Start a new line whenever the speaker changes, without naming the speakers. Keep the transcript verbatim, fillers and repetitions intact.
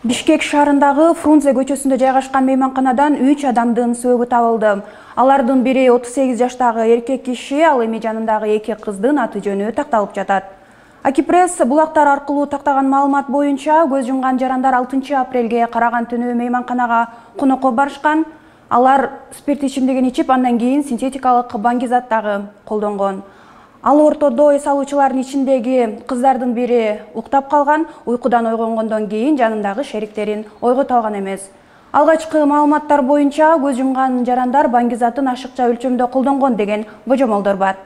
Бишкек шаарындагы Фрунзе көчөсүндө жайгашкан мейманканадан үч адамдын сөөгү табылды. Алардын бири отуз сегиз жаштагы эркек киши, ал эми жанындагы эки кыздын аты жөнү такталып жатат. Акипресс булактар аркылуу тактаган маалымат боюнча көз жумган жарандар алтынчы апрелге караган түнү мейманканага конокко барышкан. Алар спирт ичимдигин ичип, андан кийин синтетикалык баңгизат дагы колдонгон. Ал ортодо эс алуучулардын ичиндеги кыздардын бири уктап калган, уйкудан ойгонгондон кийин жанындагы шериктерин ойгото алган эмес. Алгачкы маалыматтар боюнча көз жумган жарандар баңгизатын ашыкча өлчөмдө колдонгон деген божомолдор бар.